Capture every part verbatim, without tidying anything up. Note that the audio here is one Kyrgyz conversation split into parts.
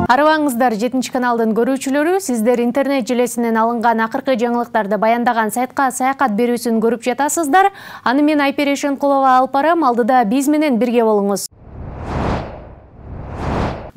Арыбаңыздар, жетинчи каналдын көрүүчүлөрү, сиздер интернет желесинен алынган акыркы жаңылыктарды баяндаган сайтка саякат берүүсүн көрүп жатасыздар. Аны мен Айпери Шенкулова алып барам, алдыда биз менен бирге болуңуз.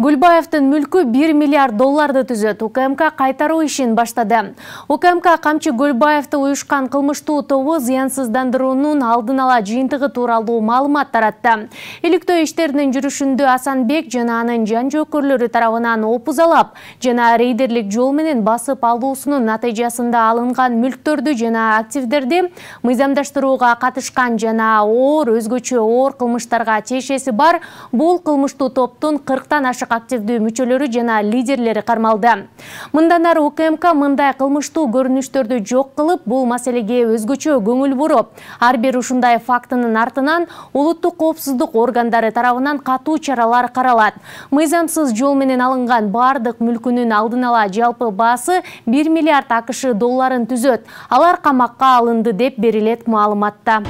Гүлбаевдин мүлкү бир миллиард долларды түзөт. УКМК кайтаруу ишин баштады. УКМК Камчы Гүлбаевди уюшкан кылмыштуу тобу зыянсыздандыруунун алдын ала жыйынтыгы тууралуу маалымат таратты. Иликтөө иштеринин жүрүшүндө Асанбек жана анын жан жөөкөрлөрү тарабынан опузалап жана рейдерлик жол менен басып алуусунун натыйжасында алынган мүлктөрдү жана активдерди мыйзамдаштырууга катышкан жана оор өзгөчө оор кылмыштарга тиешеси бар бул кылмыштуу топтун кырктан ашык активдүү мүчөлөрү жана лидерлери кармалды. Мындан ары УКМК мындай кылмыштуу көрүнүштөрдү жок кылып, бул маселеге өзгөчө көңүл буруп, ар бир ушундай фактынын артынан улуттук коопсуздук органдары тарабынан катуу чаралар каралат. Мыйзамсыз жол менен алынган бардык мүлкүнүн алдын ала жалпы баасы бир миллиард акш долларын түзөт. Алар камакка алынды деп берилет маалыматта.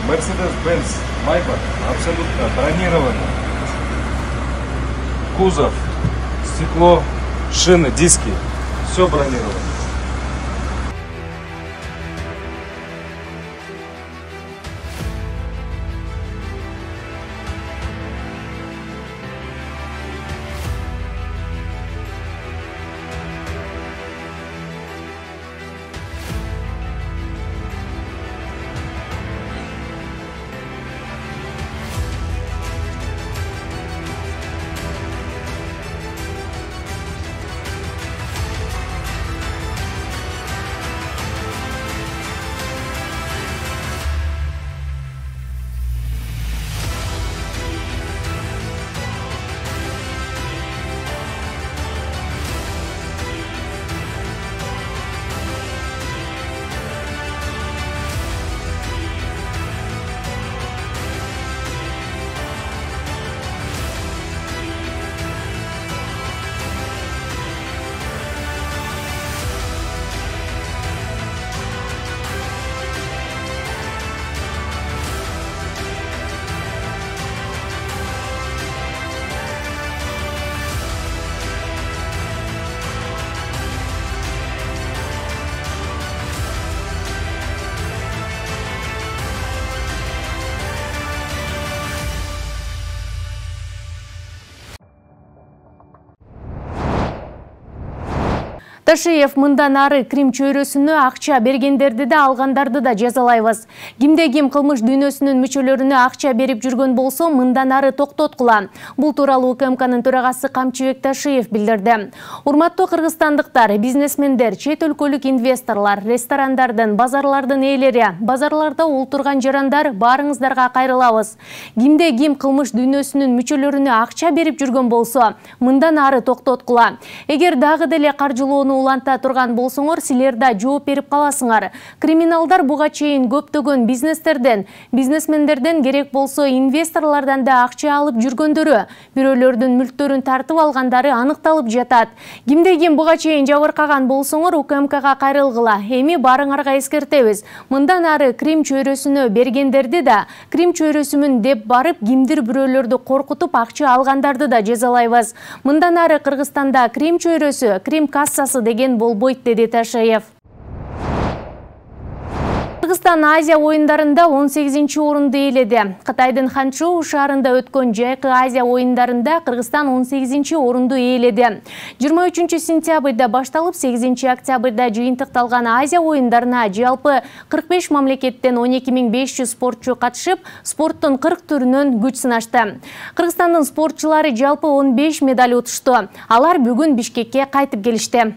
Мерседес-Бенц Майбах абсолютно бронировано. Кузов, стекло, шины, диски. Все бронировано. Ташиев мындан ары Крим чөйрөсүнө акча бергендерди да алгандарды да жазалайбыз. Кимде ким кылмыш дүйнөсүнүн мүчөлөрүнө акча берип жүргөн болсо мындан ары токтоткула. Бул тууралуу УКМКнын төрагасы Камчыбек Ташиев билдирди. Урматтуу кыргызстандыктар, бизнесмендер, чет өлкөлүк инвесторлор, ресторандардын, базарлардын ээлери, базарларда олтурган жарандар, баарыңыздарга кайрылабыз. Кимде ким кылмыш дүйнөсүнүн мүчөлөрүнө акча берип жүргөн болсо мындан ары токтоткула. Эгер дагы деле каржылоону уланта турган болсоңор, силер да жооп берип каласыңар. Криминалдар буга чейин көптөгөн бизнестерден, бизнесмендерден, керек болсо инвесторлордон да акча алып жүргөндөрү, бирөөлөрдүн мүлктөрүн тартып алгандары аныкталып жатат. Кимде ким буга чейин жабыркаган болсоңор, УКМКга кайрылгыла. Эми баарыңарга эскертебиз. Мындан ары Крим чөйрөсүнө бергендерди да, Крим чөйрөсүмүн деп барып, кимдир бирөөлөрдү коркутуп акча алгандарды да жазалайбыз. Мындан ары Кыргызстанда Крим чөйрөсү, Крим кассасы деген болбойт, деди Ташиев. Кыргызстан Азия оюндарында он сегизинчи орунду ээледи. Кытайдын Ханчжоу шаарында өткөн жайкы Азия оюндарында Кыргызстан он сегизинчи орунду ээледи. жыйырма үчүнчү сентябрда башталып, сегизинчи октябрда жыйынтыкталган Азия оюндарына жалпы кырк беш мамлекеттен он эки миң беш жүз спортчу катышып, спорттун кырк түрүнөн күч сынашты. Кыргызстандын спортчулары жалпы он беш медаль утушту. Алар бүгүн Бишкекке кайтып келишти.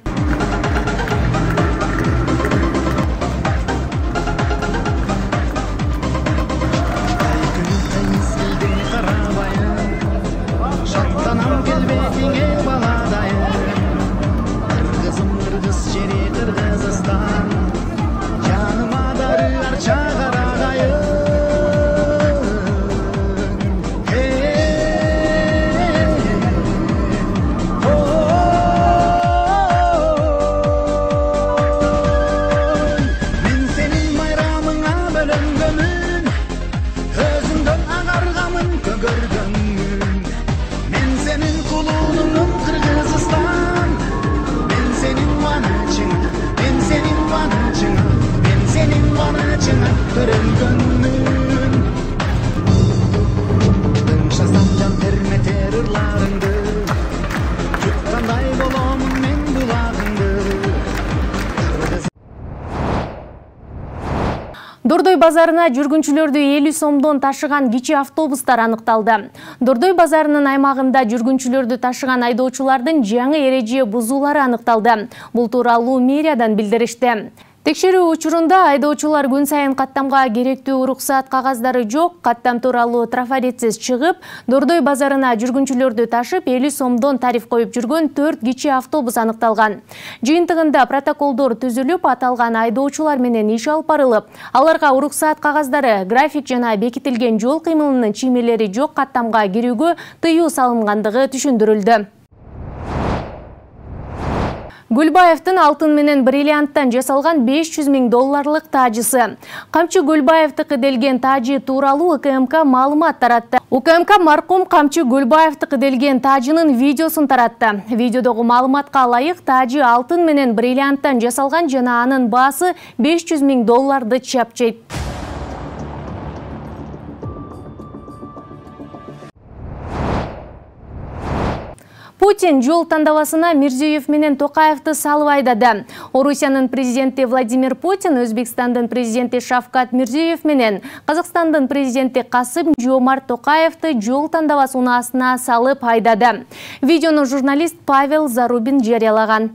базарына жүргүнчүлөрдү элүү сомдон ташыган кичи автобустар аныкталды. Дордой базарынын аймагында жүргүнчүлөрдү ташыган айдоочулардын жаңы эреже бузуулары аныкталды. Бул тууралуу мэриядан билдиришти. Текшерүү учурунда айдоочулар күн сайын каттамга керектүү уруксаат кагаздары жок, каттам тууралуу трафаретсиз чыгып, Дордой базарына жүргүнчүлөрдү ташып элүү сомдон тариф коюп жүргөн төрт кичи автобус аныкталган. Жыйынтыгында протоколдор түзүлүп, аталган айдоочулар менен иш алып барылып, аларга уруксаат кагаздары, график жана бекитилген жол кыймылынын чиймелери жок каттамга кирүүгө тыюу салынгандыгы түшүндүрүлдү. Гүлбаевдин алтын менен бриллианттан жасалган беш жүз миң долларлык тажысы. Камчы Гүлбаевдики делген тажы тууралуу У К М К маалымат таратты. У К М К маркум Камчы Гүлбаевдики делген тажынын видеосун таратты. Видеодогу маалыматка ылайык, тажы алтын менен бриллианттан жасалган жана анын баасы беш жүз миң долларды чапчайт. Путин жол тандабасына Мирзиёев менен Токаевди салып айдады. Орусиянын президенти Владимир Путин, Өзбекстандын президенти Шавкат Мирзиёев менен Казакстандын президенти Касым-Жомарт Токаевди жол тандабасы унаасына салып айдады. Видеону журналист Павел Зарубин жарыялаган.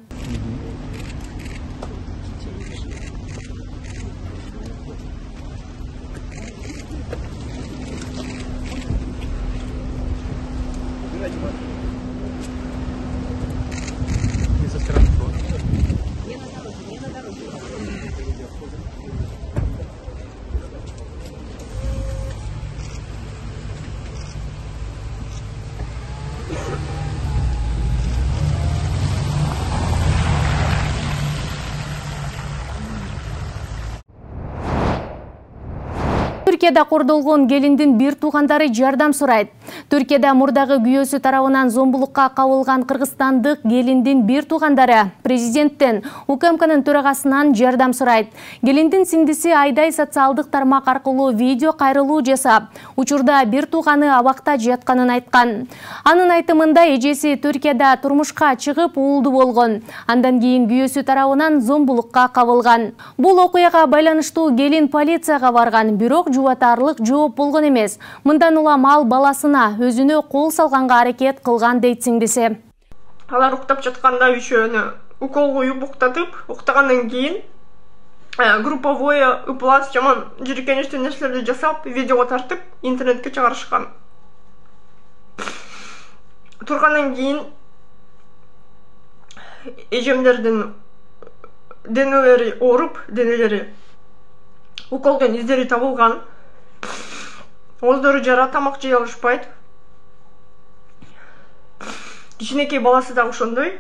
Түркияда кордолгон келиндин бир туугандары жардам сурайт. Түркияда мурдагы күйөөсү тарабынан зомбулукка кабылган кыргызстандык келиндин бир туугандары президенттен, У К М К'нын төрагасынан жардам сурайт. Келиндин сиңдиси Айдай социалдык тармак аркылуу видео кайрылуу жасап, учурда бир тууганы абакта жатканын айткан. Анын айтымында эжеси Түркияда турмушка чыгып уулду болгон. Андан кийин күйөөсү тарабынан зомбулукка кабылган. Бул окуяга байланыштуу келин полицияга барган, бирок жубатарлык жооп болгон эмес. Мындан улам ал баласына өзүнө кол салганга аракет кылган дейт сиңдиси. Алар уктап жатканда үшөөнү укол коюп уктатып, уктагандан кийин групповое ыплас жаман жиркеничтүү нерселерди жасап, видеого тартып, интернетке чыгарышкан. Тургандан кийин эжемдердин денелери ооруп, денелери уколдон издери табылган. Оздору жара, тамак жей алышпайт. Кичинекей баласы да ошондой.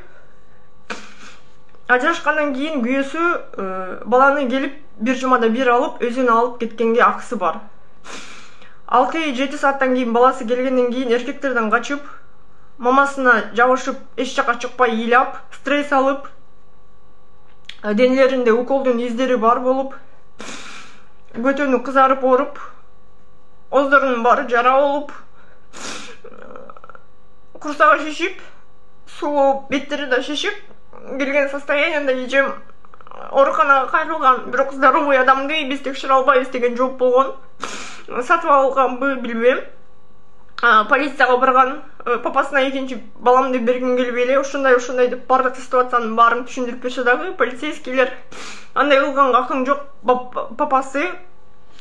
Ажырашкандан кийин күйөөсү баланы келип бир жумада бир алып, өзүнө алып кеткенге акысы бар. алты жети сааттан кийин баласы келгенден кийин эркектерден качып, мамасына жабышып, эч жака чыкпай ыйлап, стресс алып, денелеринде уколдун издери бар болуп, көтөнү кызарып ооруп, оздорунун баары жара болуп, курсагы шишип, суу беттери да шишип келген состояниеда эжем ооруканага кайрылган. Бирок здоровый адамды биз текшере албайбыз деген жооп болгон. Сатып алганбы билбейм. Полицияга барган, папасына экинчи баламды бергим келбей эле, ушундай ушундай деп бардык ситуациянын баарын түшүндүрүп берсе дагы полицейскийлер андай кылганга акың жок, папасы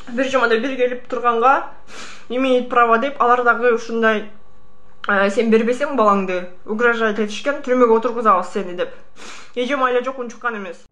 бир жумада бир келип турганга имеет право деп, алар дагы ушундай сен бербесең балаңды угрожать этишкен, түрмөгө отургузабыз сени деп. Эжем айла жок унчуккан эмес.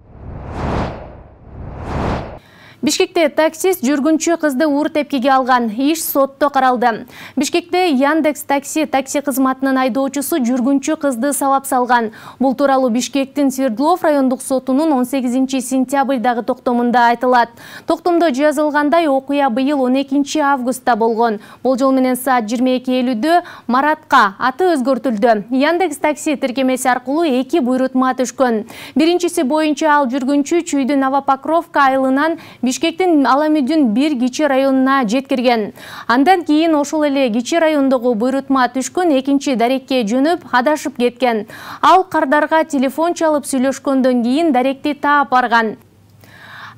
Бишкекте таксист жүргүнчү кызды уур тепкиге алган. Иш сотто каралды. Бишкекте Яндекс такси такси кызматынын айдоочусу жүргүнчү кызды сабап салган. Бул тууралуу Бишкектин Свердлов райондук сотунун он сегизинчи сентябрдагы токтомунда айтылат. Токтомдо жазылгандай, окуя быйыл он экинчи августта болгон. Болжол менен саат жыйырма эки элүүдө Маратка аты өзгөртүлдү. Яндекс такси тиркемеси аркылуу эки буйрутма түшкөн. Биринчиси боюнча ал жүргүнчү Чүйдү Новопокровка айылынан Бишкектин Аламүдүн бир кичи районуна жеткирген. Андан кийин ошол эле кичи райондогу буйрутма түшкөн экинчи дарекке жөнөп адашып кеткен. Ал кардарга телефон чалып сүйлөшкөндөн кийин даректи таап барган.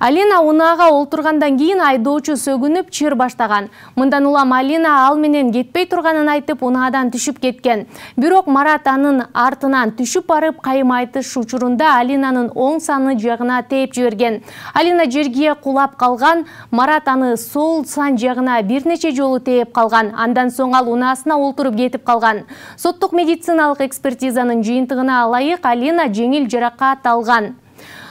Алина унаага олтургандан кийин айдоочу сөгүнүп чыр баштаган. Мындан улам Алина ал менен кетпей турганын айтып унаадан түшүп кеткен. Бирок Марат анын артынан түшүп барып кайым айтыш учурунда Алинанын оң саны жагына тээп жиберген. Алина жерге кулап калган, Марат аны сол сан жагына бир нече жолу тээп калган. Андан соң ал унаасына олтуруп кетип калган. Соттук медициналык экспертизанын жыйынтыгына ылайык Алина жеңил жаракат алган.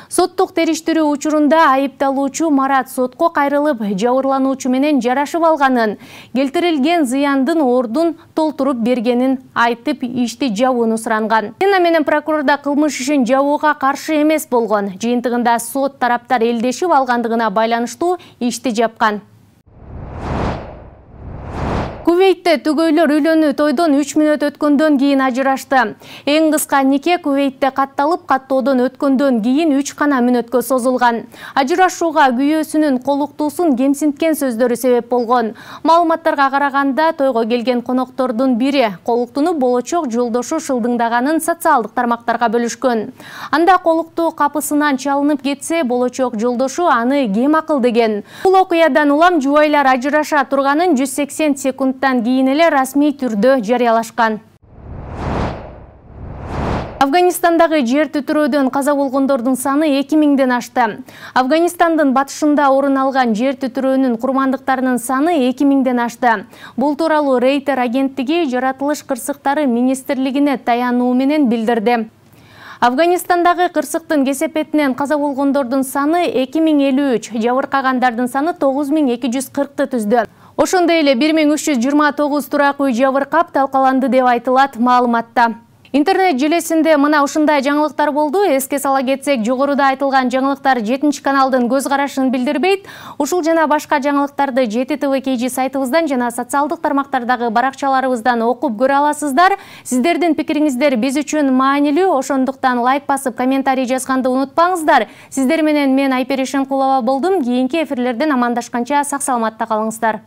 Соттук териштирүү учурунда айыпталуучу Марат сотко кайрылып, жабырлануучу менен жарашып алганын, келтирилген зыяндын ордун толтуруп бергенин айтып, ишти жабууну суранган. Алина менен прокурорда кылмыш ишин жабууга каршы эмес болгон. Жыйынтыгында сот тараптар элдешип алгандыгына байланыштуу ишти жапкан. Кувейтте түгөйлөр үйлөнүү тойдон үч мүнөт өткөндөн кийин ажырашты. Эң кыска нике Кувейтте катталып, каттоодон өткөндөн кийин үч гана мүнөткө созулган. Ажырашууга күйөөсүнүн колуктуусун кемсинткен сөздөрү себеп болгон. Маалыматтарга караганда, тойго келген коноктордун бири колуктууну болочок жолдошу шылдыңдаганын социалдык тармактарга бөлүшкөн. Анда колуктуу капысынан чалынып кетсе, болочок жолдошу аны кем акыл деген. Бул окуядан улам жубайлар ажыраша турганын жүз сексен секунд кийин эле расмий түрдө жарыялашкан. Афганистандагы жер түтүрөөдөн каза болгондордун саны эки миңден ашты. Афганистандын батышында орун алган жер түтүрөөнүн курмандыктарынын саны эки миңден ашты. Бул тууралуу Рейтер агенттиги жаратылыш кырсыктары министрлигине таянуу менен билдирди. Афганистандагы кырсыктын кесепетинен каза болгондордун саны эки миң элүү үч, жабыркагандардын саны тогуз миң эки жүз кыркты түздү. Ошондой эле бир миң үч жүз жыйырма тогуз турак үй жабыркап талкаланды деп айтылат маалыматта. Интернет желесинде мына ушундай жаңылыктар болду. Эске сала кетсек, жогоруда айтылган жаңылыктар жетинчи каналдын көз карашын билдирбейт. Ушул жана башка жаңылыктарды жети тэ вэ кей джи сайтыбыздан жана социалдык тармактардагы баракчаларыбыздан окуп көрө аласыздар. Сиздердин пикириңиздер биз үчүн маанилүү, ошондуктан лайк басып, комментарий жазганды унутпаңыздар. Сиздер менен мен Айпери Шенкулова болдум. Кийинки эфирлерден амандашканча сак саламатта калыңыздар.